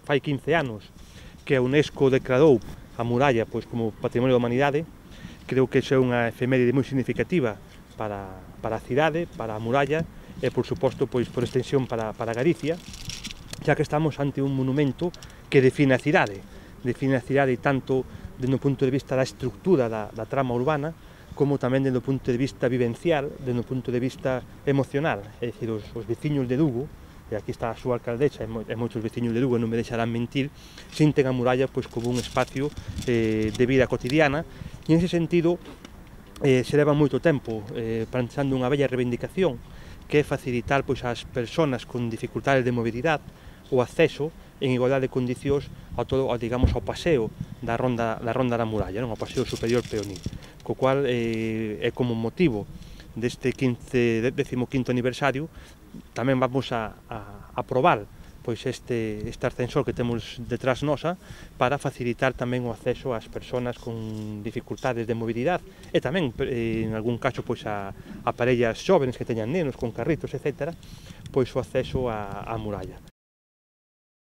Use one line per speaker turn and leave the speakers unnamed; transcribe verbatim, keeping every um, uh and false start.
Fai quince anos que a UNESCO declarou a muralla pois, como Patrimonio da Humanidade. Creo que iso é unha efeméride moi significativa para, para a cidade, para a muralla e, por suposto, pois, por extensión para, para Galicia, xa que estamos ante un monumento que define a cidade, define a cidade tanto dende o punto de vista da estructura da, da trama urbana, como tamén dende o punto de vista vivencial, dende o punto de vista emocional, é dicir, os, os veciños de Lugo, e aquí está a súa alcaldesa e moitos veciños de Lugo non me deixarán mentir, sinten a muralla pois, como un espacio eh, de vida cotidiana, e en ese sentido eh, se leva moito tempo eh, planteando unha bella reivindicación que é facilitar pois, ás persoas con dificultades de mobilidade o acceso en igualdade de condicións ao todo, ao, digamos, ao paseo da ronda da, ronda da muralla, non? Ao paseo superior peonil, co cual eh, é como motivo deste décimo quinto aniversario tamén vamos a, a aprobar pois este, este ascensor que temos detrás nosa para facilitar tamén o acceso ás persoas con dificultades de mobilidade e tamén, eh, en algún caso, pois a, a parellas xóvenes que teñan nenos con carritos, etcétera, pois o acceso á, á muralla.